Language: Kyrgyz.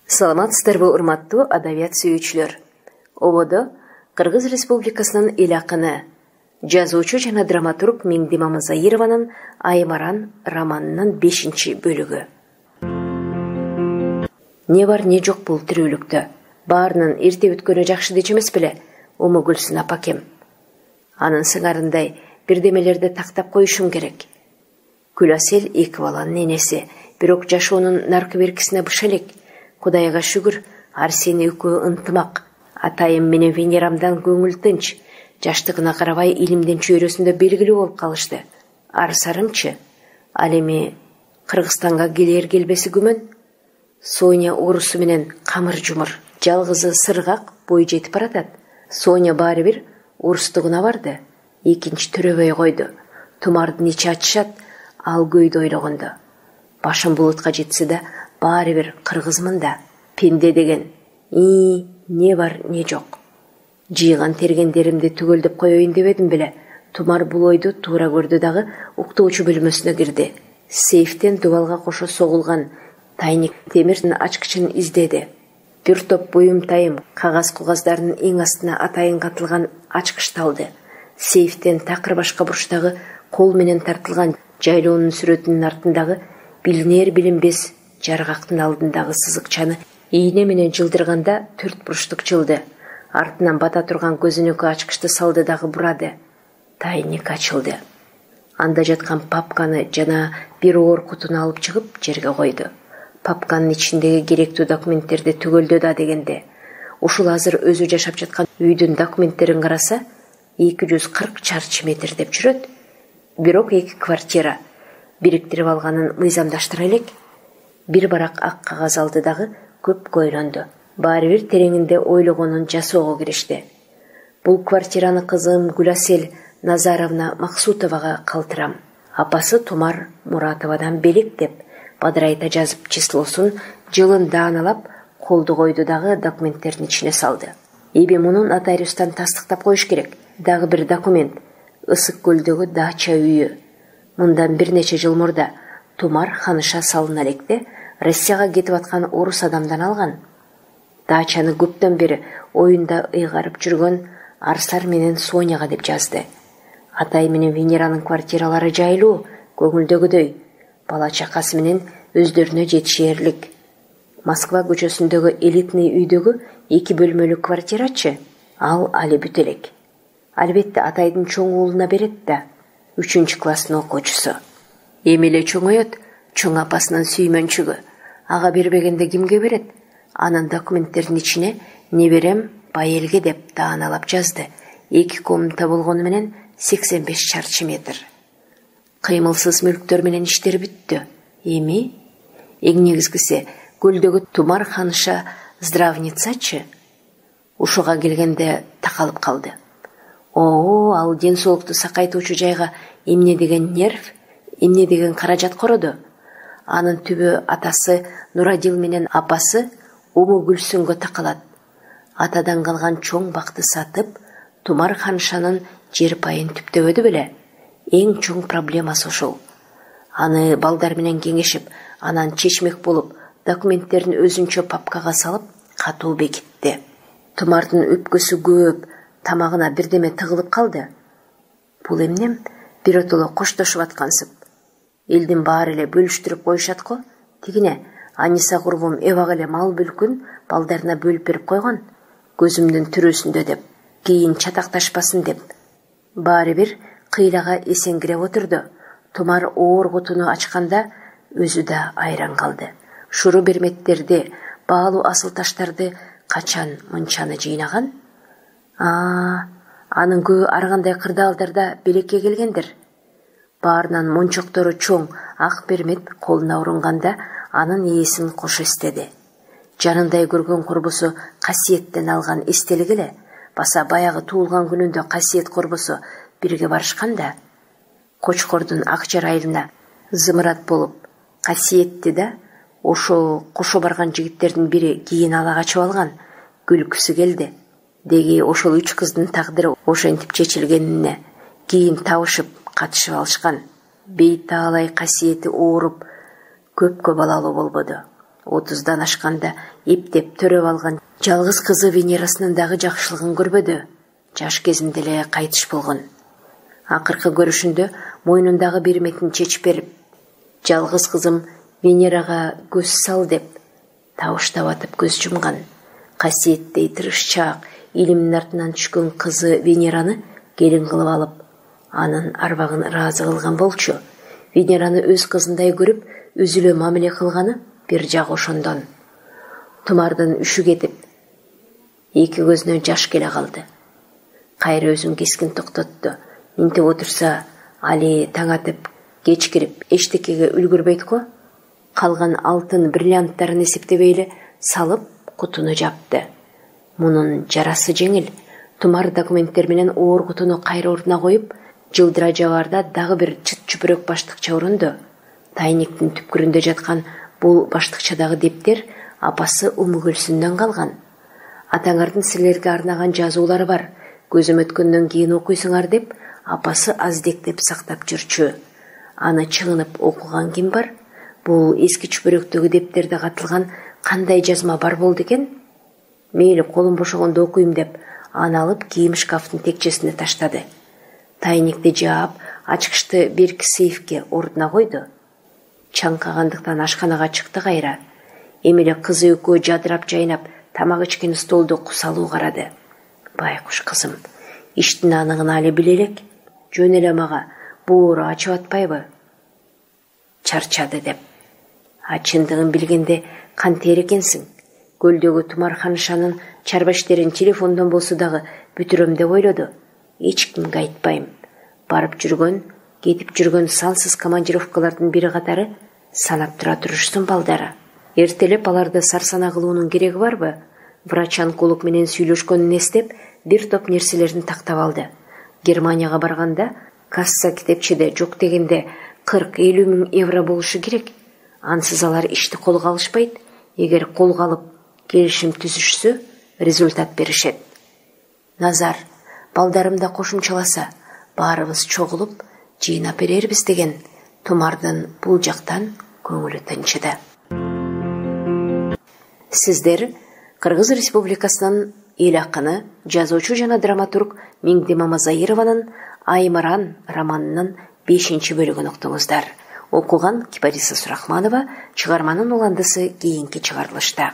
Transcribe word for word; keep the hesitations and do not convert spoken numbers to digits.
Саламатсыздарбы, урматтуу адабият сүйүүчүлөр. Ободо Кыргыз Республикасынын эл акыны, жазуучу жана драматург Миңди Мамызайырованын Аймаран романынын бешинчи бөлүгү. Не бар не жок бул тирүүлүктө. Баарынын эрте өткөнү жакшы дечи эмес беле, Уму Гүлсүн апакем. Анын сыңарындай бирдемелерди тактап коюшум керек. Күласел эки баланын энеси, бирок жашоонун наркы беркисине быш элек. Кудайга шүгүр, Арсен экөө ынтымак. Атайым менен Венерамдан көңүл тынч. Жаштыгына карабай илимдин чөйрөсүндө белгилүү болуп калышты. Арсарымчы, ал эми Кыргызстанга келер келбеси күмөн. Соня орусу менен камыр жумур, жалгызы сыргак бой жетип баратат. Соня баары бир орустугуна барды. Экинчи төрөбөй койду. Тумардын ичи ачышат, ал көйдү ойлогондо. Башым булутка жетсе да, баары бир кыргызмын да. Пенде деген и не бар не жок. Жыйган тергендеримди түгөлдөп коеюн дебедим беле. Тумар бул ойду туура көрдү дагы уктоочу бөлмөсүнө кирди. Сейфтен дубалга кошо согулган тайник темирдин ачкычын издеди. Бир топ буюм тайым кагаз кугаздардын эң астына атайын катылган ачкыч талды. Сейфтен такыр башка бурчтагы кол менен тартылган жайлоонун сүрөтүнүн артындагы билинер билинбес жаргактын алдындагы сызыкчаны ийне менен жылдырганда төрт бурчтук жылды. Артынан бата турган көзүнүккө ачкычты салды дагы бурады. Тайник ачылды. Анда жаткан папканы жана бир оор кутуну алып чыгып жерге койду. Папканын ичиндеги керектүү документтерди түгөлдө да дегенде. Ушул азыр өзү жашап жаткан үйдүн документтерин караса эки жүз кырк чарчы метр деп жүрөт. Бирок эки квартира бириктирип алганын мыйзамдаштыра элек. Бир барак ак кагаз алды дагы көпкө ойлонду. Баары бир тереңинде ойлогонун жасоого киришти. Бул квартираны кызым Гүласел Назаровна Максутовага калтырам. Апасы Тумар Муратовадан белек деп бадырайта жазып числосун жылын дааналап колду койду дагы документтердин ичине салды. Эби мунун нотариустан тастыктап коюш керек. Дагы бир документ. Ысык көлдөгү дача үйү. Мындан бир нече жыл мурда Тумар ханыша салына электе Россияга кетип аткан орус адамдан алган. Дачаны көптөн бери оюнда ыйгарып жүргөн Арсар менен Соняга деп жазды. Атай менен Венеранын квартиралары жайлуу, көңүлдөгүдөй. Бала чакасы менен өздөрүнө жетишээрлик. Москва көчөсүндөгү элитный үйдөгү эки бөлмөлүү квартирачы, ал али бүт элек. Албетте атайдын чоң уулуна берет да, үчүнчү класстын окуучусу. Эми эле чоңоет, чоң апасынын сүймөнчүгү. Ага бербегенде кимге берет? Анын документтердин ичине неберем байелге деп дааналап жазды. Эки комната болгону менен сексен беш чарчы метр. Кыймылсыз мүлктөр менен иштер бүттү. Эми эң негизгиси көлдөгү Тумар ханыша здравницачы. Ушуга келгенде такалып калды. О, ал ден соолукту сакайтуучу жайга эмне деген нерв, эмне деген каражат короду. Анын түбү атасы Нурадил менен апасы Уму Гүлсүнгө такалат. Атадан калган чоң бакты сатып, Тумар ханышанын жер пайын түптөбөдү беле. Эң чоң проблемасы ошол. Аны балдар менен кеңешип, анан чечмек болуп, документтерин өзүнчө папкага салып, катуу бекитти. Тумардын өпкөсү көп, тамагына бирдеме тыгылып калды. Бул эмнем? Биротоло коштошуп аткансып. Элдин баары эле бөлүштүрүп коюшат го. Тигине Аниса курбум эбак эле мал бүлкүн балдарына бөлүп берип койгон. Көзүмдүн түрөсүндө деп, кийин чатакташпасын деп. Баары бир кыйлага эсеңкиреп отурду. Тумар оор кутуну ачканда өзү да айран калды. Шуру берметтерди, баалуу асыл таштарды качан мынчаны жыйнаган? А, анын көбү ар кандай кырдаалдарда белекке келгендир. Баарынан мончоктору чоң ак бермет колуна урунганда анын ээсин кош эстеди. Жанындай көргөн курбусу Касиеттен алган эстелик эле. Баса баягы туулган күнүндө Касиет курбусу бирге барышканда, Кочкордун ак жарайына зымырат болуп, Касиетти да ошол кошо барган жигиттердин бири кийин ала качып алган. Күлкүсү келди. Деги ошол үч кыздын тагдыры ошентип чечилгенине кийин табышып катышып алышкан. Бейтаалай Касиети ооруп, көпкө балалуу болбоду. отуздан ашканда эптеп төрөп алган жалгыз кызы Венерасынын дагы жакшылыгын көрбөдү. Жаш кезинде эле кайтыш болгон. Акыркы көрүшүндө мойнундагы берметин чечип берип, жалгыз кызым Венерага көз сал деп табыштап атып көз жумган. Касиеттей тырышчаак илимдин артынан түшкөн кызы Венераны келин кылып алып, анын арбагын ыраазы кылган болчу. Венераны өз кызындай көрүп, өзүлө мамиле кылганы бир жагы ошондон. Тумардын үшү кетип, эки көзүнө жаш келе калды. Кайра өзүн кескин токтотту. Интип отурса, али таң атып, кеч кирип, эчтекеге үлгүрбөйт го. Калган алтын бриллианттарын эсептебей салып, кутуну жапты. Мунун жарасы жеңил. Тумар документтер менен оор кутуну кайра ордуна коюп, жылдыра жабарда дагы бир чыт чүпүрөк баштыкча урунду. Тайниктин түпкүрүндө жаткан бул баштыкчадагы дептер апасы Умугүлсүндөн калган. Атаңардын силерге арнаган жазуулары бар. Көзүм өткөндөн кийин окуйсуңар деп апасы аздектеп сактап жүрчү. Аны чыгынып окуган ким бар? Бул эски чүпүрөктөгү дептерде катылган кандай жазма бар болду экен? Мейли колум бошогондо окуйм деп, аны алып кийим шкафтын текчесине таштады. Тайникти жаап, ачкычты берки сейфке ордуна койду. Чаңкагандыктан ашканага чыкты кайра. Эмеле кызы экөө жадырап жайнап, тамак ичкен столду кусалуу карады. Байкуш кызым, иштин аныгын али биле элек, жөн эле мага боору ачып атпайбы? Чарчады деп. А чындыгын билгенде кантер экенсиң? Көлдөгү Тумар ханышанын чарба иштерин телефондон болсо дагы бүтүрөм деп ойлоду. Эч кимге айтпайм. Барып жүргөн, кетип жүргөн сансыз командировкалардын бири катары санап тура турушсун балдары. Эртелеп аларды сарсана кылуунун кереги барбы? Врач-онколог менен сүйлөшкөнүн эстеп, бир топ нерселерин тактап алды. Германияга барганда касса китепчеде жок дегенде кырк элүү миң евро болушу керек. Ансыз алар ишти колго алышпайт. Эгер колго алып келишим түзүшсө, результат беришет. Назар, балдарымда кошумчаласа, баарыбыз чогулуп, жыйнап берербиз деген Тумардын бул жактан көңүлү тынчыды. Сиздер Кыргыз Республикасынын эл акыны, жазуучу жана драматург Миңди Мамазайырованын Аймаран романынын бешинчи бөлүгүн уктуңуздар. Окуган Кипариса Сурахманова, чыгарманын уландысы кийинки чыгарылышта.